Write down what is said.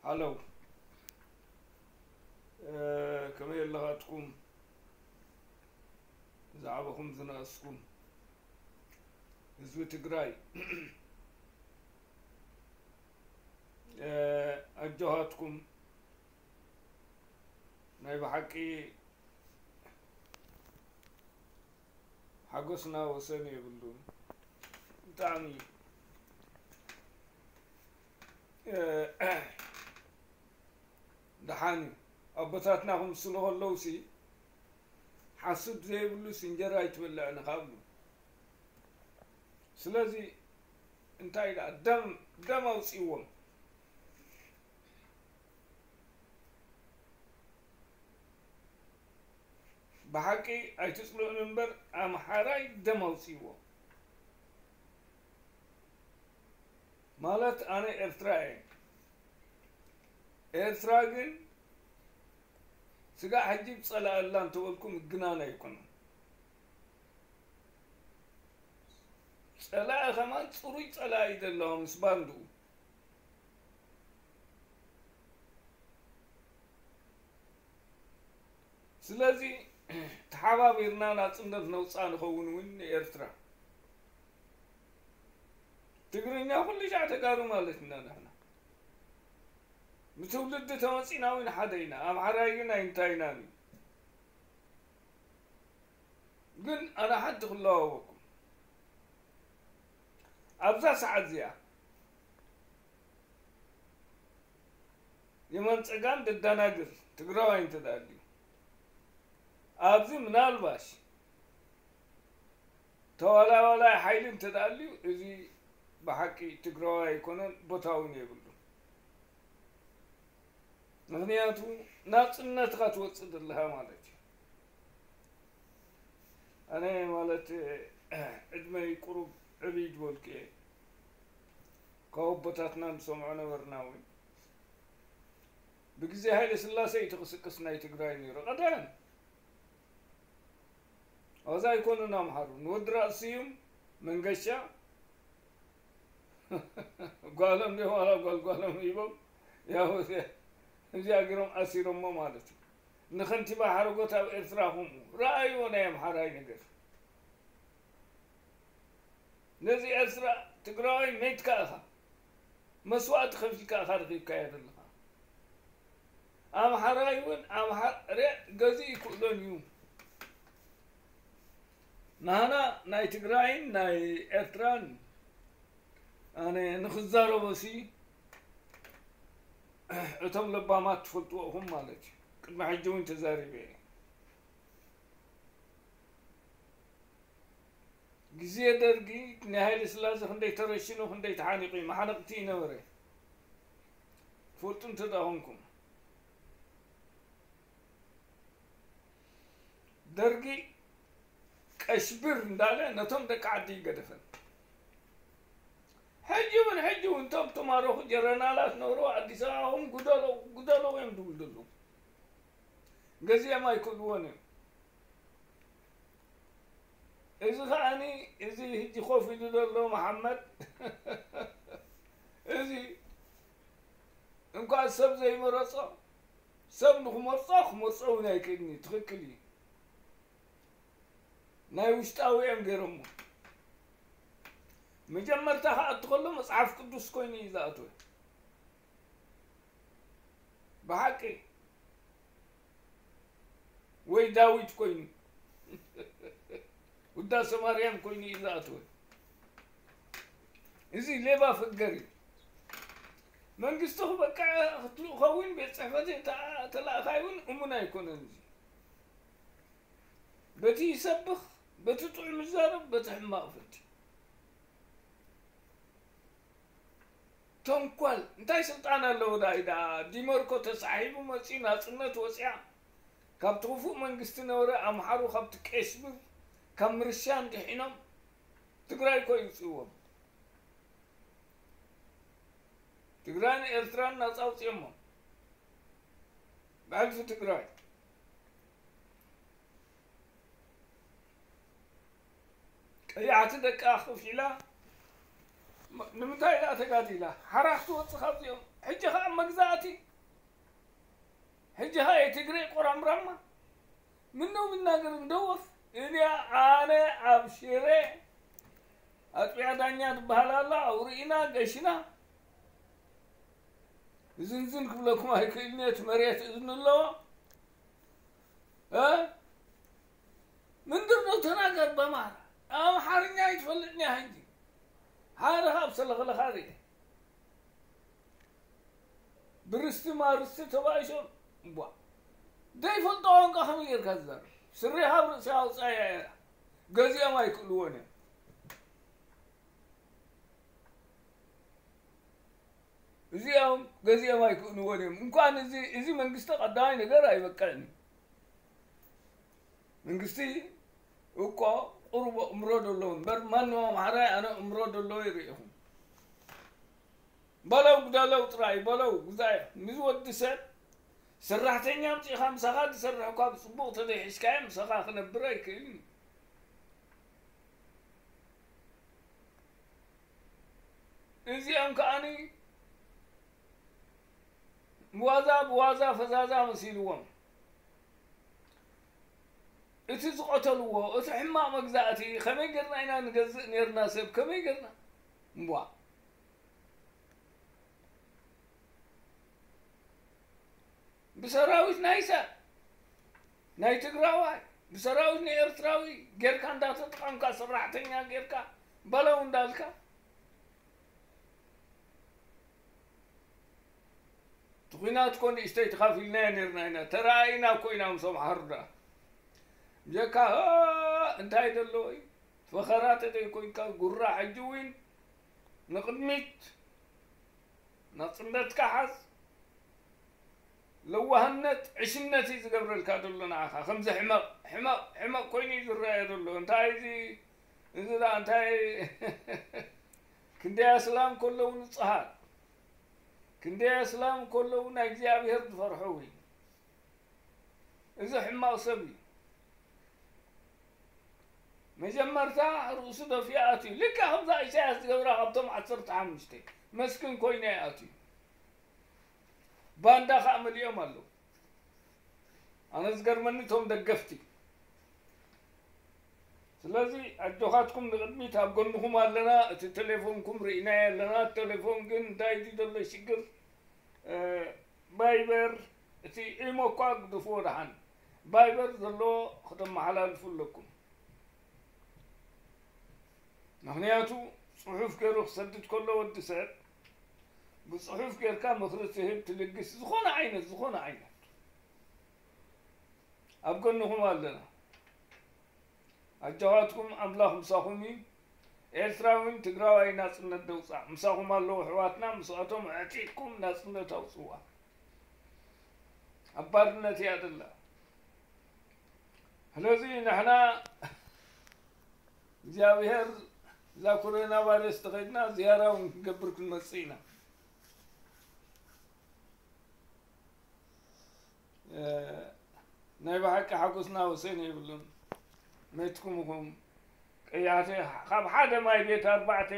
ሃሎ፣ እ፣ ከመይ ኣለኻትኩም? ዝዓበኹም ዝነኣስኩም ህዝቢ ትግራይ፣ እ፣ ኣጆኻትኩም። ናይ ብሓቂ ሓጎስና ወሰን የብሉን። ብጣዕሚ፣ እ፣ ደሓን እዩ። ኣቦታትና ክምስሉ ከለውሲ፣ ሓሱድ ዘይብሉስ እንጀራ ኣይትበልዕን ኢኻ ብሉ። ስለዚ እንታይ ደኣ ደም፣ ደም ኣውፅእዎም። ብሓቂ ኣይትፅልኡኒ እምበር ኣምሓራይ ደም ኣውፅእዎ። ማለት ኣነ ኤርትራ እየ። ኤርትራ ግን ስጋዕ ሕጂ ብፀላእ ኣላ እንተበልኩ ምግናን ኣይኮነን። ፀላኢ ከማን ፅሩይ ፀላኢ እዩ ዘለዋ ምስ ባንድኡ። ስለዚ ተሓባቢርና ናፅነት ነውፃ ንኸውን እውን ንኤርትራ። ትግርኛ ኩሉ ሻዕ ተጋሩ ማለት ኢና ንሕና። ብትውልዲ ተመፂና እውን ሓደ ኢና። ኣምሓራይ ግን ኣይንታይናን እዩ። ግን ኣነ ሓንቲ ክለዋወኩም። ኣብዛ ሰዓት እዚኣ የማን ጸጋም ደዳናግር ትግራዋይ እንተ ደኣ ኣልዩ፣ ኣብዚ ምናልባሽ ተዋላዋላይ ሓይሊ እንተ ደኣ ኣልዩ፣ እዚ ብሓቂ ትግራዋይ ኣይኮነን፣ ቦታ እውን የብሉን። ምኽንያቱ ናጽነትኻ ትወጽእ ዘለኻ ማለት እዩ። ኣነ ማለት ዕድመይ ቁሩብ ዕብይ ዝበልኩ እየ። ካብ ኣቦታትና ንሰምዖ ነበርና እውን። ብግዜ ሃይለ ስላሴ እዩ እቲ ክስቅስ ናይ ትግራይ ነይሩ። ቀደም ኣዛ ኣይኮኑን ኣምሓሩ። ንወዲ ራእሲ ስዩም መንገሻ ጓሎም ድዮም ዋላ ጓል ጓሎም ሂቦም፣ ያው እዚኣ፣ እዚኣ ገይሮም ኣሲሮሞ ማለት እዩ። ንኸንቲባ ሓረጎት ኣብ ኤርትራ ከምኡ። ረኣይዎ ናይ ኣምሓራይ ነገር። ነዚ ኤርትራ ትግራዋይ መይትካ ኢኻ። መስዋእቲ ከፊልካ ኢኻ ረኺብካዮ ዘለኻ። ኣምሓራይ እውን ኣምሓ-፣ ሬ-፣ ገዚእ ይክእሎን እዩ። ናህና ናይ ትግራይን ናይ ኤርትራን ኣነ ንኽዛረቦ ሲ እቶም ለባማት ትፈልጥዎ ኢኹም ማለት እዩ። ቅድሚ ሕጂ እውን ተዛሪበ እየ። ግዜ ደርጊ ናይ ሃይለ ስላሴ ክንደይ ተረሽኑ ክንደይ ተሓኒቑ እዩ። መሓነቕቲ ይነበረ። ትፈልጡ እንተ ደኣ ኮንኩም። ደርጊ ቀሽብር እንዳለ ነቶም ደቂ ዓዲ ይገደፈን። ሕጂ እውን፣ ሕጂ እውን እቶም ተማረኹ ጀረናላት ነበሩ ኣዲስ ኣበባ ኹም ጉደሎ፣ ጉደሎ እዮም ዝብሉ ዘለዉ። ገዚኦም ኣይክእልዎን እዮም። እዚ ከኣኒ፣ እዚ ሕጂ ኮፍ ኢሉ ዘሎ መሓመድ፣ እዚ እንኳን ሰብ ዘይመረጾ፣ ሰብ ንኽመርጾ፣ ክመርጾ እውን ኣይክእልን እዩ። ትኽክል እዩ። ናይ ውሽጣዊ እዮም ገይሮሞ። መጀመርታ ክኣቱ ከሎ መጽሓፍ ቅዱስ ኮይኑ እዩ ዝኣትወ። ብሓቂ ወይ ዳዊት ኮይኑ፣ ውዳሴ ማርያም ኮይኑ እዩ ዝኣትወ። እዚ ሌባ ፈገር እዩ። መንግስቲ ክበቅዕ ክትልኡ ከውን ቤት ጽሕፈት ተኣ-፣ ተላእኻይ እውን እሙን ኣይኮነን። እዚ በቲ ይሰብኽ፣ በቲ ጥዑም ይዛረብ፣ በቲ ሕማቕ ፍርዲ። ተንኮል፣ እንታይ ስልጣን ኣለዎ? ዳይ ደኣ ዲመርኮ ተሳሒቡ መጺኡ ናጽነት ወጺኣ። ካብቲ ክፉእ መንግስቲ ነበረ ኣምሓሩ ካብቲ ቀሽብር ካብ ምርሻ እንድሒኖም ትግራይ እኮ ይውፅእዎም። ትግራይን ኤርትራን ናጻ ኣውፅኦሞ። ብሕልፊ ትግራይ ቀያሕቲ ደቃ ከፊላ ም-፣ ንምንታይ ደኣ ተጋዲላ? ሓራ ክትወጽእ ካብዚኦም። ሕጂ ኸኣ መግዛእቲ ጀሃ የትግሬ ቆራምራማ ምነው ምናገር እንደወፍ እዚኣ ኣነ ኣብ ሽረ ኣጥቢያ ዳኛ ትበሃል ኣላ፣ ኣውርኢና ገሽና። ዝንዝን ክብለኩም ኣይክእልን እየ፣ እቲ መሬት እዝኒ ኣለዎ። እ? ምንድር ነው ተናገር በማራ። ኣምሓርኛ ኣይትፈልጥን እያ ሕጂ። ሓደ ካብ ሰለኸለኻ ርኤ። ብርስቲ ማርስቲ ተባኢሶም። ቧ። ዘይፈልጦ ቋንቋ ከመይ ጌርካ ትዛረብ? ስሪኻ ኣብ ርእሲ ኣውጻያ እያ። ገዚኦም ኣይክእልዎን እዮም። እዚኦም ገዚኦም ኣይክእልዎን እዮም። እንኳን እዚ፣ እዚ መንግስቲ ቀዳማይ ነገር ኣይበቅዕን እዩ። መንግስቲ እኮ ቁሩብ ኣእምሮ ደለዎ እምበር፣ ማንም ኣምሓራይ ኣነ ኣእምሮ ደለዎ ይርኢኹም። በለው ግደለው ጥራይ፣ በለው ግዛዮ። ምስ ወዲ ሰብ ሰራሕተኛ ኣምጺእኻ ምሳኻ ዝሰርሕ እኳ ብጽቡቕ ተዘይሒዝካዮ ምሳኻ ክነብር ኣይክእልን እዩ። እዚኦም ከኣኒ ዋዛ ብዋዛ ፈዛዛ መሲልዎም። እቲ ዝቐተልዎ፣ እቲ ሕማቕ መግዛእቲ፣ ከመይ ጌርና ኢና ንገዝእ ኔርና ሰብ? ከመይ ጌርና? እምቧ። ብሰራዊት ናይ ሰብ፣ ናይ ትግራዋይ፣ ብሰራዊት ናይ ኤርትራዊ ጌርካ እንዳተጠቐምካ፣ ሰራሕተኛ ጌርካ፣ በለው እንዳልካ፣ እቲ ኲናት እኮ ንእሽተይ ተኻፊልናዮ ኔርና ኢና። ተራኣይና እኮ ኢና ምስ ኣምሓሩ ደኣ። ብጀካ፣ እ፣ እንታይ ደለዎ እዩ? ፈኸራ ተዘይኮይንካ ጉራ ሕጂ እውን ንቕድሚት ናጽነትካ ሓዝ። ለዋህነት ዕሽነት እዩ ዝገብረልካ ዘሎ ንዓኻ። ከምዚ ሕመቕ፣ ሕመቕ፣ ሕመቕ ኮይኑ እዩ ዝረኣዮ ዘሎ። እንታይ እዚ፣ እዚ ደኣ እንታይ ክንደይ ኣስላም ከለዉ ንጹሃት፣ ክንደይ ኣስላም ከለዉ ናይ እግዚኣብሔር ዝፈርሑ እውን። እዚ ሕማቕ ሰብ እዩ። መጀመርታ ርእሱ ደፊኡ ኣትዩ። ልክዕ ከምዛ ኢሳያስ ዝገብራ ካብቶም ዓሰርተ ሓሙሽተ መስኪን ኮይኑ እዩ ኣትዩ። ባንዳ ከኣ መሊኦም ኣለዉ። ኣነ ዝገርመኒ እቶም ደገፍቲ። ስለዚ ኣጆኻትኩም ንቕድሚት ኣብ ጎንኹም ኣለና። እቲ ቴሌፎንኩም ርኢናዮ ኣለና። ቴሌፎን ግን እንታይ እዩ ዘሎ ሽግር? እ፣ ቫይበር፣ እቲ ኢሞ እኳ ግድፍዎ ደሓን። ቫይበር ዘሎ ከተመሓላልፉ ኣለኩም። ምኽንያቱ ጽሑፍ ገይሩ ክሰድድ ከሎ ወዲ ሰብ ብጽሑፍ ጌርካ ምኽሪ ትህብ፣ ትልግስ፣ ዝኾነ ዓይነት፣ ዝኾነ ዓይነት ኣብ ጎንኹም ኣለና። ኣጆኻትኩም፣ ኣምላኽ ምሳኹም እዩ። ኤርትራዊን ትግራዋይ ናጽነት ደውጻእ። ምሳኹም ኣለዉ ኣሕዋትና፣ ምስኣቶም ኣዕጢቕኩም ናጽነት ኣውጽዋ። ኣብ ባርነት እያ ዘላ። ስለዚ ንሕና እግዚኣብሔር እዛ ኮሮና ቫይረስ ተኸድና ዝያራ እውን ክንገብር ክንመጽእ ኢና። እ፣ ናይ ብሓቂ ሓጎስና ወሰን የብሉን። መትኩም ኢኹም ቀያሕቲ፣ ካብ ሓደ ማይ ቤት ኣርባዕተ